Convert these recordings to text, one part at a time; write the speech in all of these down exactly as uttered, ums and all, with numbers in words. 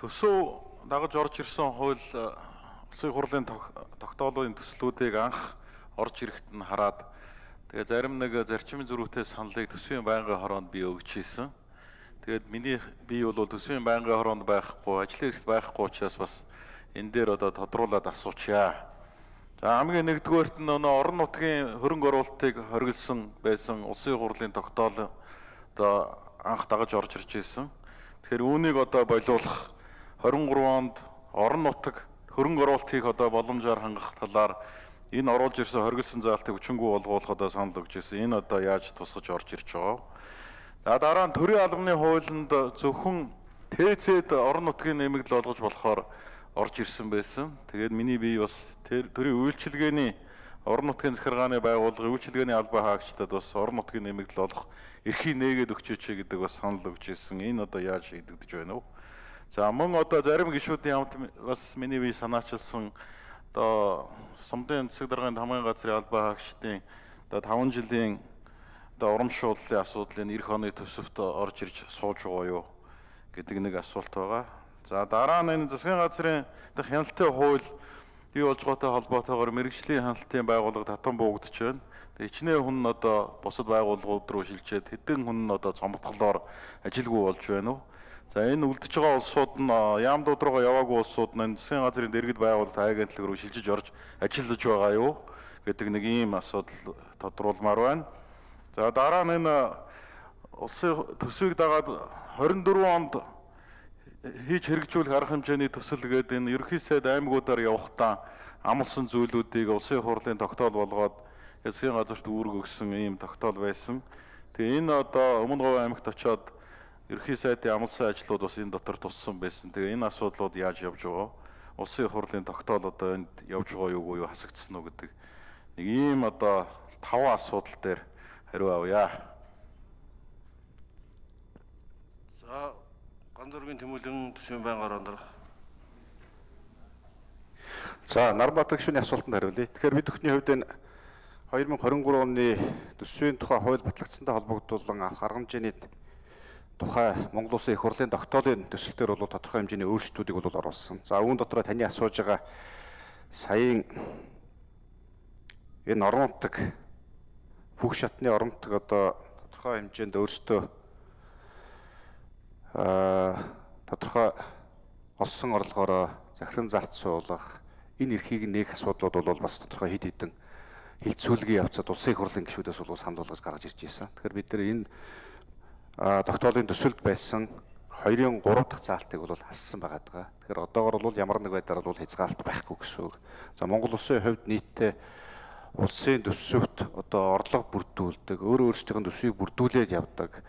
Төсөв дагаж орж ирсэн хууль улсын хурлын тогтоолын төслүүдийг анх орж ирэхэд нь хараад тэгээ зарим нэг зарчмын зөрүүтэй саналыг төсвийн байнгын хороонд би өгч ийсэн. Тэгээд миний би бол төсвийн байнгын хороонд байхгүй, ажлын хэрэгт байхгүй учраас бас энэ дээр одоо тодруулаад асуучаа. За хамгийн нэгдүгээрт нь өнөө орон нутгийн хөрөнгө оруулалтыг хоригдсан байсан улсын хурлын тогтоол одоо анх дагаж орж ирж ирсэн. Тэгэхээр үүнийг одоо болиулах двадцать три онд орон нутаг хөрөнгө оруулалт хийх одоо боломжоор хангах талаар энэ оруулж ирсэн хоригдсан заалтыг хүчингүй болгоулах одоо санал өгч ирсэн. Энэ одоо яаж тусгаж орж ирж байгаа вэ? За дараа нь төрийн албаны хуулинд зөвхөн ТЦ-д орон нутгийн нэмэгдэл олгож болохоор орж ирсэн байсан. Тэгээд миний бие бас төрийн үйлчилгээний орон нутгийн захиргааны байгууллагын үйлчилгээний албан хаагчдад бас орон нутгийн нэмэгдэл олох эрхийг нээгээд өгчөөч гэдэг бас санал өгч ирсэн. Энэ одоо яаж шийдэгдэж байна вэ? За мөн одоо зарим гишүүдийн хамт бас миний бие санаачилсан одоо Сумдын засаг даргын хамгийн газрын албан хаагчдын одоо таван жилийн одоо урамшууллын асуудлын эх оны төсөвт орж ирж сууж байгаа юу гэдэг нэг асуулт байгаа. За дараа нь энэ засгийн газрын дэх хяналтын хууль бий болж байгаатай холбоотойгоор мэрэгжлийн хяналтын байгууллага татан буугдж байна. Тэгээ хичнээн хүн нь одоо бусад байгууллагууд руу шилжээд хэдэн хүн нь одоо цомгтголоор ажилгүй болж байна уу? За энэ үлдэж байгаа улсууд нь яамдууд руугаа яваагүй улсууд нь засгийн газрын дэргэд байгуулалт агентлаг руу шилжиж орж ажиллаж байгаа юу гэдэг нэг ийм асуудал тодруулмаар байна. За дараа нь энэ улсын төсвийг дагаад двадцать четыре онд хийж хэрэгжүүлэх арга хэмжээний төсөл гэдэг энэ ерөнхий сайд аймагуудаар явахдаа амлсан зүйлүүдийг улсын хурлын тогтоол болгоод засгийн газарт үүрэг өгсөн ийм тогтоол байсан. Тэгээ энэ одоо Өмнө Говь аймагт очиод ерөнхий сайдын амлсан ажлууд бас энэ дотор туссан байсан. Тэгээ энэ асуудлууд яаж явж байгаа? Улсын хурлын тогтоол одоо энд явж байгаа юу юу хасагдсан уу гэдэг нэг ийм одоо таван асуудал дээр хариу авъя. За Ганзуургийн Тэмүүлэн төсвийн байнгын хороонд орох. За Нарбаатар гишүүний асуултанд хариулъя. Тэгэхээр бид бүхний хувьд энэ две тысячи двадцать три оны төсвийн тухай хууль батлагдсантай холбогдуулан авах арга хэмжээний тухай Монгол Улсын их хурлын тогтоолын төсөлтөөр бол тодорхой хэмжээний өөрчлөлтүүдийг бол оруулсан. За үүн дотор таны асууж байгаа саяын энэ орон нутаг бүх шатны орон нутаг одоо тодорхой хэмжээнд өөрсдөө аа тодорхой олсон орлогоороо захиран зарц суулгах энэ эрхийг нээх асуудлууд бол бас тодорхой хэд хэдэн хилцүүлгийн явцад улсын их хурлын гишүүдээс бол санал болгож гаргаж ирж байсан. Тэгэхээр бид нар энэ тогтоолын төсөлд байсан хоёрын гурав дахь заалтыг бол хассан байгаа даа. Тэгэхээр одоогор бол ямар нэг байдлаар бол хязгаалт байхгүй гэсэн үг. За Монгол Улсын хувьд нийтдээ улсын төсөвт одоо орлого бүрдүүлдэг, өөр өөрсдийн төсвийг бүрдүүлээд явдаг.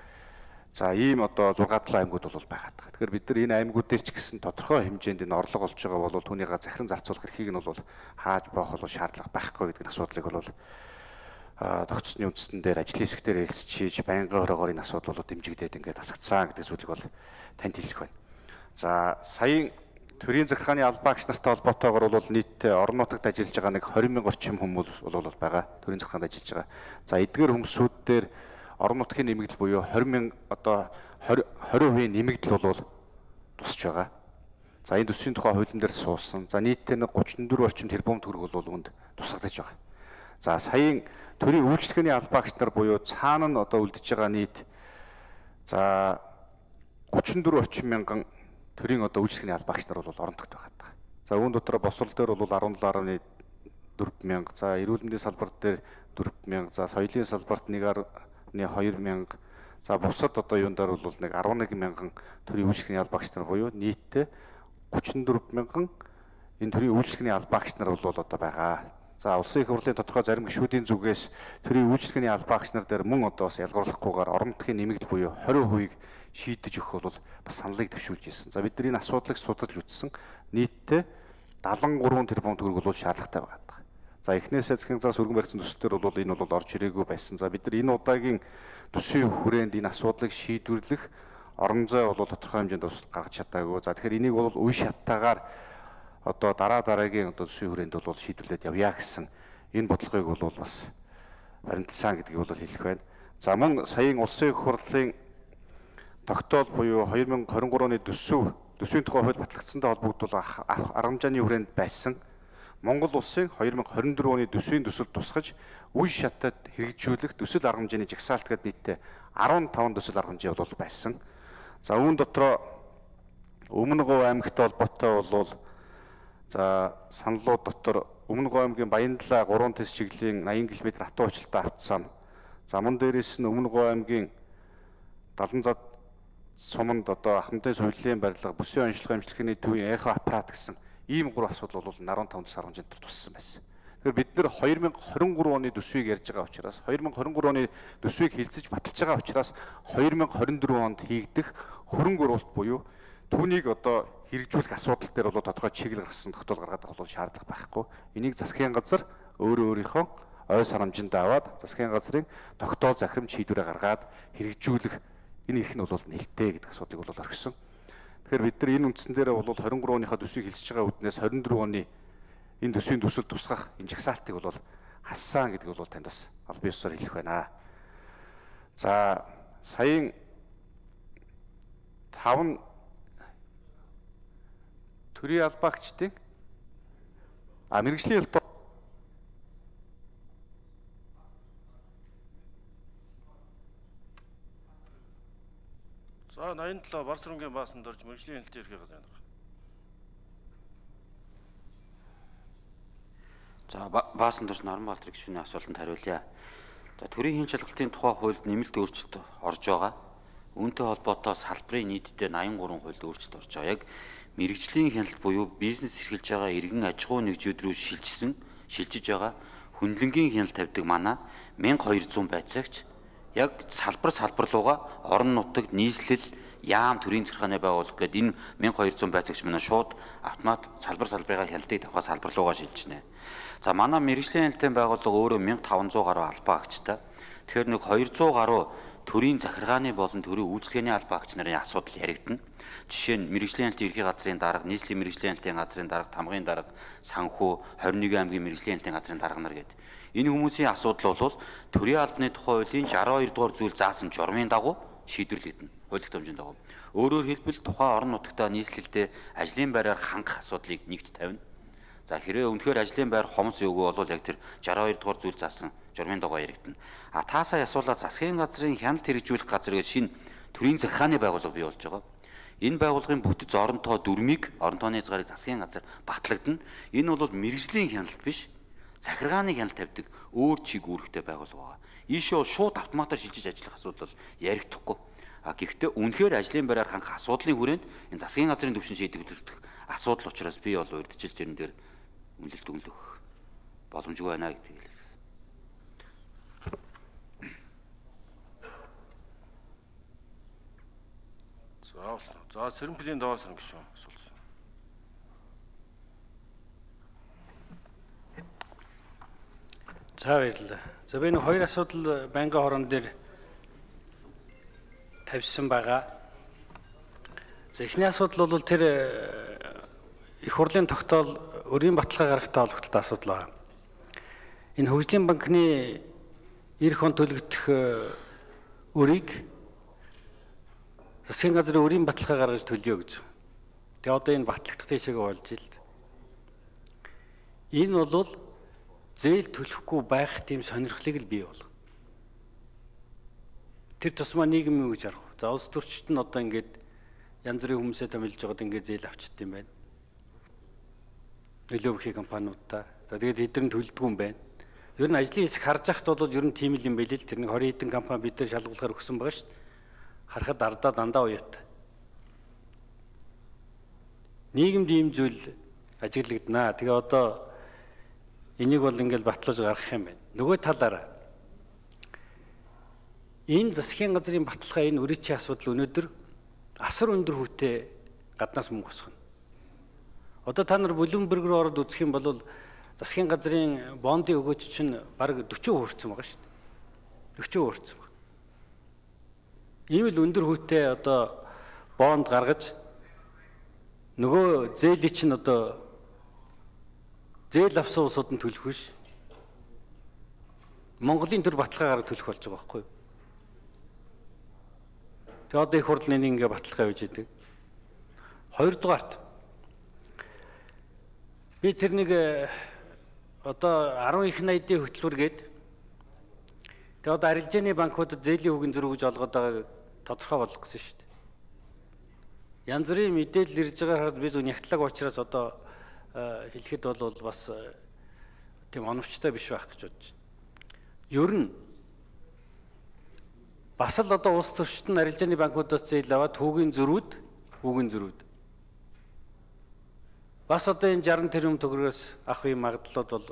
За ийм одоо шесть долоо аймагуд бол байгаа даа. Тэгэхээр бид нар энэ аймагуд дээр ч гэсэн тодорхой хэмжээнд энэ орлого олж байгаа бол түүнийгээ захиран зарцуулах эрхийг нь бол хааж боох бол шаардлага байхгүй гэдэг асуудлыг бол тогтцсны үндсэн дээр ажлын хэсгээр хэлсэж хийж байнгын хороогоор энэ асуудал бол дэмжигдээд ингээд хасагдсан гэдэг зүйлийг бол танд хэлэх байна. За саяын төрийн захиргааны албан агч нартай холбоотойгоор бол нийтдээ орон нутагт ажиллаж байгаа нэг двадцать мянган орчим хүмүүс бол байгаа. Төрийн захиргаанд ажиллаж байгаа. За эдгээр хүмүүсүүд дээр орон нутгийн нэмэгдэл буюу двадцать мянга одоо двадцать хувийн нэмэгдэл бол тусч байгаа. За энэ төсвийн тухай хуулийн дээр суусан. За нийтдээ нэг тридцать четыре орчим тэрбум төгрөг бол үүнд тусгагдаж байгаа. За саяын төрийн үйлчлэгээний албан агч нар буюу цаана нь одоо үлдэж байгаа нийт за тридцать четыре орчим мянган төрийн одоо үйлчлэгээний албан агч нар бол орон нутагт байгаа. За үүн дотор босвол дээр бол дөрвөн нурууны дөрвөн мянга, за эрүүл мэндийн салбар дээр дөрвөн мянга, за соёлын салбарт нэг хоёр мянга, за бусад одоо юун дээр бол нэг арван нэг мянган төрийн үйлчлэгээний албан агч нар буюу нийтдээ тридцать четыре мянган энэ төрийн үйлчлэгээний албан агч нар бол одоо байгаа. За улсын их хурлын тодорхой зарим гишүүдийн зүгээс төрийн үйлчлэгээний албан агч нар дээр мөн одоо бас ялгарлахгүйгээр орон нутгийн нэмэгдэл буюу двадцать хувийг шийдэж өгөх бол бас саналыг төвшүүлж ирсэн. За бид нар энэ асуудлыг судалж үзсэн. Нийтдээ седемдесет и три тэрбум төгрөг бол шаардлагатай байгаа. За эхнээсээ засгийн заас өргөн барьсан төслөөр бол энэ бол орж ирээгүй байсан. За бид нар энэ удаагийн төсвийн хүрээнд энэ асуудлыг шийдвэрлэх орон зай бол тодорхой хэмжээнд бас гаргаж чадаагүй. За тэгэхээр энийг бол үе шаттайгаар одоо дараа дараагийн одоо төсвийн хүрээнд бол шийдвэрлээд явъя гэсэн энэ бодлогыг бол бас баримталсан гэдгийг бол хэлэх байна. За мөн саяын улсын их хурлын тогтоол буюу две тысячи двадцать три оны төсөв төсвийн тухай хууль батлагдсантай холбогдуулах арга хэмжээний хүрээнд байсан Монгол улсын хоёр мянга хорин дөрөв оны төсвийн төсөлд тусгаж үе шатад хэрэгжүүлэх төсөл арга хэмжээний жагсаалт гэдэг нийтдээ арван таван төсөл арга хэмжээ бол байсан. За үүн дотроо Өмнөговь аймагтай холбоотой бол за саналууд дотор Өмнөговь аймгийн Баяндлаа гурван тэс чиглэлийн аян км хатуу уучлалтай автосан. За мөн дээрээс нь Өмнөговь аймгийн Даланзад суманд одоо ахмадын сувилийн барилга, бүсийн онцлог амжилтны төвийн эхо аппарат гэсэн ийм гурван асуудал бол арван таван төсөл арга хэмжээнд туссан байсан. Тэгэхээр бид нэр хоёр мянга хорин гурав оны төсвийг ярьж байгаа учраас хоёр мянга хорин гурав оны төсвийг хилцэж баталж байгаа учраас хоёр мянга хорин дөрөв онд хийгдэх хөрөнгө оруулалт буюу түүнийг одоо хэрэгжүүлэх асуудал дээр бол тодорхой чиглэл гаргасан тогтоол гаргаад байгаа бол шаардлага байхгүй. Энийг засгийн газар өөрөө өөрийнхөө ой санамжинд аваад засгийн газрын тогтоол захирамж шийдвэрээ гаргаад хэрэгжүүлэх энэ эрх нь бол нэлтэй гэдэг асуудлыг бол орхисон. Тэгэхээр бид нар энэ үндсэн дээр бол хорин гурав оныхаа төсвийг хэлж байгаа үднээс хорин дөрөв оны энэ төсвийн төсөл тусгах энэ жагсаалтыг бол хассан гэдэг бол танд бас аль бие усаар хэлэх байна. За саяын таван төрийн албаагчдын а мэргэжлийн ялтаа За наян талаа Барс өрөнгийн баасанд орж мэргэжлийн хэлтийн ерхий газар байна. За баасан дорж Норон Баатар гишүүний асуултанд хариулъя. За төрийн хийн шалгалтын тухай хуульд нэмэлт өөрчлөлт орж байгаа. Үүнтэй холбоотой салбарын нийтдээ восемьдесят гурван хуульд өөрчлөлт орж байгаа. Яг мэргэжлийн хяналт буюу бизнес эрхэлж байгаа иргэн аж ахуй нэгжүүд рүү шилжсэн, шилжиж байгаа хүндлэнгийн хяналт тавьдаг манай мянга хоёр зуун байцаагч яг салбар салбар руугаа орон нутагт нийслэл яам төрийн захиргааны байгууллага гэдэг энэ мянга хоёр зуун байцаагч манай шууд автомат салбар салбарынхаа хяналтыг тавхаа салбар руугаа шилжнэ. За манай мэргэжлийн хяналтын байгууллага өөрөө мянга таван зуун гаруй албаагчтай. Тэгэхээр нэг хоёр зуун гаруй төрийн захиргааны болон төрийн үйлчлэгээний албаагч нарын асуудал яригдана. Жишээ нь мэргэжлийн хяналтын ерхий газрын дарга, нийслэлийн мэргэжлийн хяналтын газрын дарга, тамгын дарга, санхүү, хорин нэгэн аймгийн мэргэжлийн хяналтын газрын дарга нар гэдэг. Энэ хүмүүсийн асуудал бол төрийн албаны тухай хуулийн шестьдесят хоёр дугаар зүйл заасан журмын дагуу шийдвэрлэгдэнэ. Хууль тогтоомжийн дагуу. Өөрөөр хэлбэл тухайн орон нутагтаа нийслэлдээ ажлын байраар хангах асуудлыг нэгт тавина. За хэрвээ үнэхээр ажлын байр хомс өгөө бол яг тэр шестьдесят хоёр дугаар зүйл заасан журмын дагуу яригдана. А таасаа асуулаа засгийн газрын хяналт хэрэгжүүлэх газар гэж шинэ төрийн захиргааны байгууллага бий болж байгаа. Энэ байгууллагын бүтэц оронтоо дүрмийг орон тооны хязгаарыг засгийн газар батлагдана. Энэ бол мэргэжлийн хяналт биш, захиргааны хяналт тавьдаг өөр чиг үүрэгтэй байгууллага байна. Ийшээ шууд автоматар шилжиж ажиллах асуудал яригдахгүй. А гэхдээ үнэхээр ажлын байраар хангах асуудлын хүрээнд энэ засгийн газрын түвшин шийдвэрлэх асуудал учраас би бол урьдчилж энэ дээр үнэлэлт өгөх боломжгүй байна гэдгийг хэлээ. За за Сэрэмплийн даваас ирнэ гişүн асуулсан. За баярлалаа. За би нэг хоёр асуудал байнгын хорон дээр тавьсан байгаа. За эхний асуудал бол тэр их хурлын тогтоол өрийн баталгаа гаргахтай холбоотой асуудал байна. Энэ хөгжлийн банкны эх он төлөгдөх өрийг засгийн газрын өрийн баталгаа гаргаж төлөё гэж. Тэгээ одоо энэ батлагдах тийшээ болж ил. Энэ бол зээл төлөхгүй байх тийм сонирхлыг л бий бол. Тэр тусмаа нийгэм юу гэж харах вэ? За улс төрчид нь одоо ингээд янз бүрийн хүмүүсээ томилж байгаад ингээд зээл авчт юм байна. Нөлөө бүхий компаниудаа. За тэгээд хэдэн төлдөг юм байна. Ер нь ажлын хэсэг харж байхад бол ер нь тийм л юм байл л тэр нэг двадцать хэдэн компани бид нар шалгуулахаар өгсөн байгаа шүү дээ. Харахад ардаа дандаа уяатай. Нийгэмд ийм зүйл ажиглагдана. Тэгээ одоо энийг бол ингээд батлуулж гаргах юм байна. Нөгөө талаараа энэ засгийн газрын баталгаа энэ өрөөчийн асуудал өнөөдөр асар өндөр хүүтэй гаднаас мөнгө босгоно. Одоо та нар Bloomberg руу ороод үзэх юм бол засгийн газрын бондын өгөөч чинь бараг forty хүрсэн байгаа шүү дээ. forty хүрсэн байна. Ийм л өндөр хүүтэй одоо бонд гаргаж нөгөө зээлийн чинь одоо зээл авсан улсууд нь төлөх биш. Монголын төр баталгаа гаргаж төлөх болж байгаа байхгүй юу? Тэгээ одоо их хурлын ингээ баталгаа хийж идэг. Хоёрдугаарт би тэр нэг одоо арван их найдын хөтөлбөргээд тэгээ одоо арилжааны банкудад зээлийн хүүгийн зөрүү гэж олгоод байгааг тодорхой болгох гэсэн шүү дээ. Янз бүрийн мэдээлэл ирж байгаагаар би зөв нягтлаг учраас одоо хэлэхэд бол бас тийм оновчтой биш байх гэж бодож байна. Ер нь бас л одоо улс төрчид нь арилжааны банкудаас зээл аваад хүүгийн зөрүүд, хүүгийн зөрүүд. Бас одоо энэ шаран тэрбум төгрөгөөс авах юм магадлалууд бол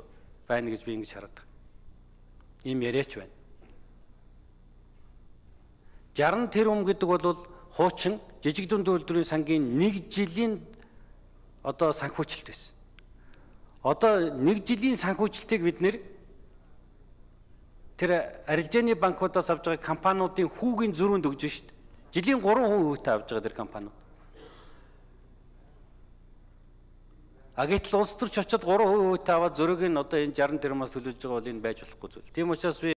байна гэж би ингэж хараад байна. Ийм яриач байна. шаран тэрбум гэдэг бол хуучин жижиг дунд үйлдвэрийн сангийн нэг жилийн одоо санхүүжилт байсан. Одоо нэг жилийн санхүүжилтийг бид нэр тэр арилжааны банкудаас авж байгаа компаниудын хүүгийн зөрүүнд өгж шүү дээ. Жилийн гурван хувь хувьтай авж байгаа тэр компаниуд. А гэтэл улс төрч очиод гурван хувь хувьтай аваад зөрөөг нь одоо энэ шаран тэрбумаас төлөвлөж байгаа бол энэ байж болохгүй зүйл. Тийм учраас би